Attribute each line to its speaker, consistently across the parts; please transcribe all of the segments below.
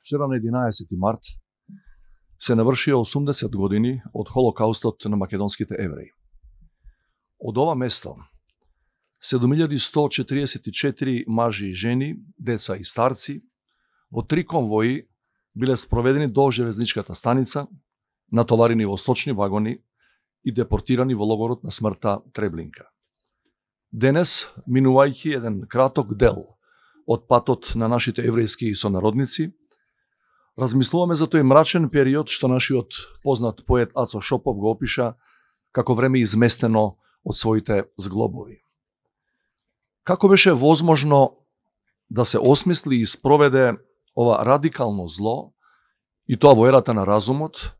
Speaker 1: Вчера на 11 март се навршија 80 години од Холокаустот на македонските евреи. Од ова место 7144 мажи и жени, деца и старци во 3 конвои биле спроведени до железничката станица, натоварени во сточни вагони и депортирани во логорот на смртта Треблинка. Денес, минувајќи еден краток дел од патот на нашите еврејски сонародници, размислуваме за тој мрачен период што нашиот познат поет Ацо Шопов го опиша како време изместено од своите зглобови. Како беше возможно да се осмисли и спроведе ова радикално зло, и тоа во ерата на разумот,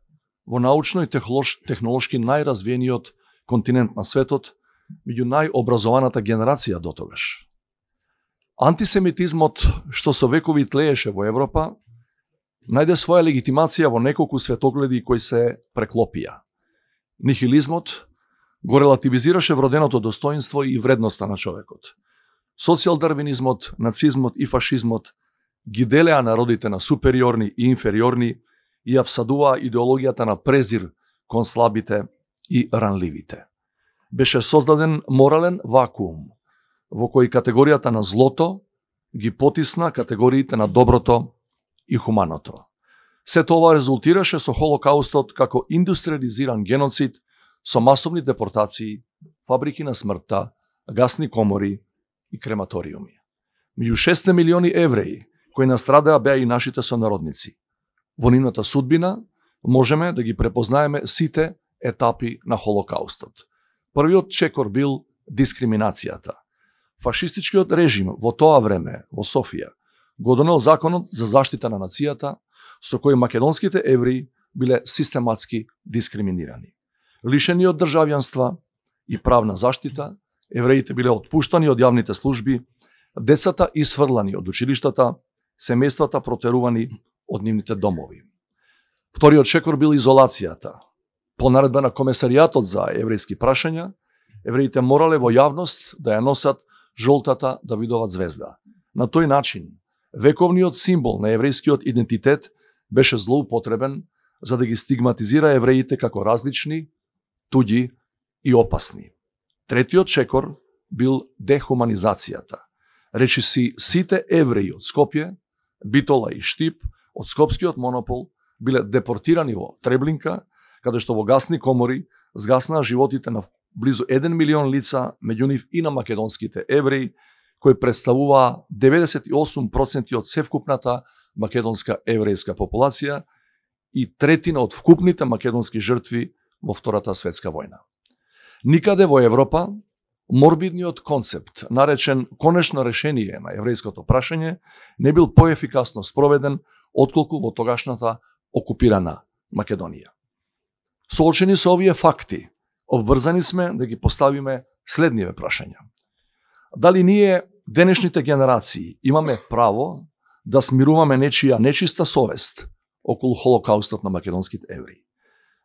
Speaker 1: во научно и технолошки најразвиениот континент на светот, меѓу најобразованата генерација дотогаш? Антисемитизмот, што со векови тлееше во Европа, најде своја легитимација во неколку светогледи кои се преклопија. Нихилизмот го релативизираше вроденото достоинство и вредноста на човекот. Социјалдарвинизмот, нацизмот и фашизмот ги делеа народите на супериорни и инфериорни и ја всадуваа идеологијата на презир кон слабите и ранливите. Беше создаден морален вакуум, во кој категоријата на злото ги потисна категориите на доброто и хуманото. Сето ова резултираше со Холокаустот како индустриализиран геноцид со масовни депортации, фабрики на смртта, гасни комори и крематориуми. Меѓу 6 милиони евреи кои настрадаа беа и нашите сонародници. Во нивната судбина можеме да ги препознаеме сите етапи на Холокаустот. Првиот чекор бил дискриминацијата. Фашистичкиот режим во тоа време во Софија го донел законот за заштита на нацијата, со кој македонските евреи биле систематски дискриминирани. Лишени од државјанства и правна заштита, евреите биле отпуштани од јавните служби, децата исфрлани од училиштата, семејствата протерувани од нивните домови. Вториот чекор бил изолацијата. По наредба на Комесаријатот за еврејски прашања, евреите морале во јавност да ја носат жолтата Давидова звезда. На тој начин, вековниот символ на еврејскиот идентитет беше злоупотребен за да ги стигматизира евреите како различни, туѓи и опасни. Третиот чекор бил дехуманизацијата. Речиси сите евреи од Скопје, Битола и Штип од скопскиот монопол биле депортирани во Треблинка, каде што во гасни комори згаснаа животите на близу 1 милион лица, меѓу нив и на македонските евреи, кои представуваа 98% од севкупната македонска еврејска популација и третина од вкупните македонски жртви во Втората светска војна. Никаде во Европа морбидниот концепт, наречен конечно решение на еврејското прашање, не бил поефикасно спроведен отколку во тогашната окупирана Македонија. Соочени со овие факти, обврзани сме да ги поставиме следниве прашања. Дали ние, денешните генерации, имаме право да смируваме нечија нечиста совест околу Холокаустот на македонските евреи?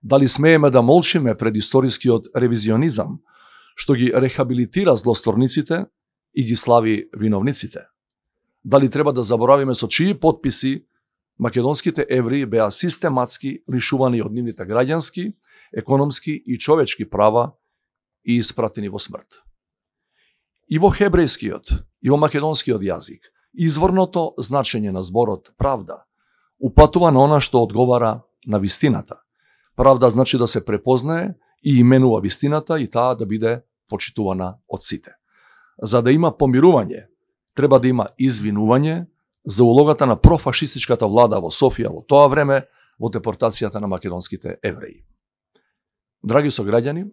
Speaker 1: Дали смееме да молчиме пред историскиот ревизионизам, што ги рехабилитира злосторниците и ги слави виновниците? Дали треба да заборавиме со чии потписи македонските евреи беа систематски лишувани од нивните граѓански, економски и човечки права и испратени во смрт? И во хебрејскиот, и во македонскиот јазик, изворното значење на зборот правда упатува на она што одговара на вистината. Правда значи да се препознае и именува вистината и таа да биде почитувана од сите. За да има помирување, треба да има извинување за улогата на профашистичката влада во Софија во тоа време во депортацијата на македонските евреи. Драги сограѓани,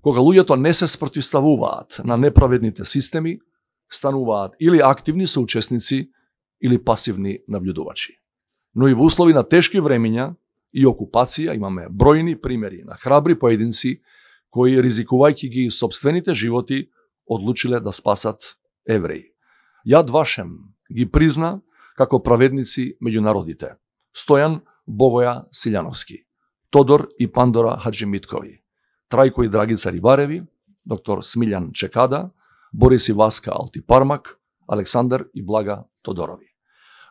Speaker 1: кога луѓето не се спротивставуваат на неправедните системи, стануваат или активни соучесници или пасивни наблюдувачи. Но и во услови на тешки времиња и окупација имаме бројни примери на храбри поединци кои, ризикувајќи ги сопствените животи, одлучиле да спасат евреи. Јад Вашем ги призна како праведници меѓу народите. Стојан Богоја Силјановски, Тодор и Пандора Хаджимиткови, Трајко и Драгица Рибареви, доктор Смилјан Чекада, Борис и Васка Алтипармак, Александар и Блага Тодорови.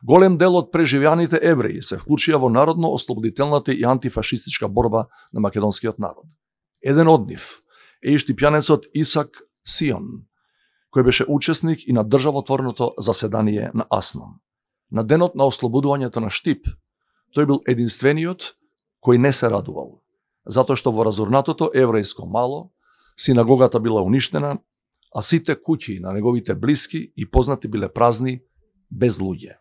Speaker 1: Голем дел од преживеаните евреи се вклучија во народно-ослободителната и антифашистичка борба на македонскиот народ. Еден од нив е и штипјанецот Исак Сион, кој беше учесник и на државотворното заседание на Аснон. На денот на ослободувањето на Штип, тој бил единствениот кој не се радувал, затоа што во разорнатото еврејско мало синагогата била уништена, а сите куќи на неговите блиски и познати биле празни, без луѓе.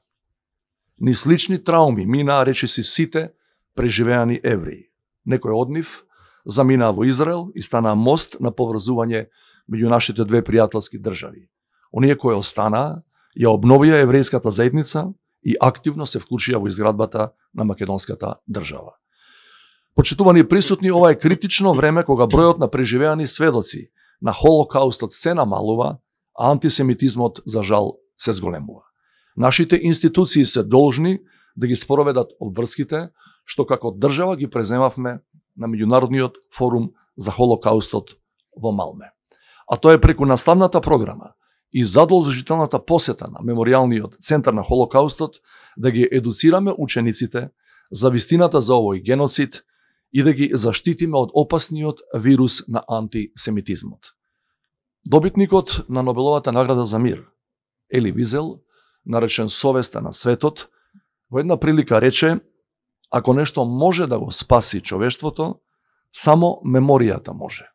Speaker 1: Ни слични трауми минаа речиси сите преживеани евреи. Некој од нив заминаа во Израел и станаа мост на поврзување меѓу нашите две пријателски држави. Оние кои останаа, ја обновија еврејската заедница и активно се вклучија во изградбата на македонската држава. Почитувани присутни, ова е критично време кога бројот на преживеани сведоци на Холокаустот се намалува, а антисемитизмот, за жал, се зголемува. Нашите институции се должни да ги спроведат обврските што како држава ги преземавме на Меѓународниот форум за Холокаустот во Малме. А тоа е преку наставната програма и задолжителната посета на Меморијалниот центар на Холокаустот да ги едуцираме учениците за вистината за овој геноцид и да ги заштитиме од опасниот вирус на антисемитизмот. Добитникот на Нобеловата награда за мир, Ели Визел, наречен совеста на светот, во една прилика рече: ако нешто може да го спаси човештвото, само меморијата може.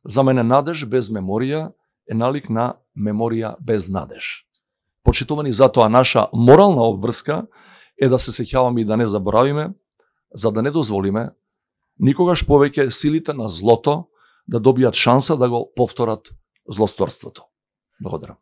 Speaker 1: За мене надеж без меморија е налик на меморија без надеж. Почитувани, затоа наша морална обврска е да се сеќаваме и да не заборавиме, за да не дозволиме никогаш повеќе силите на злото да добијат шанса да го повторат злосторството. Благодарам.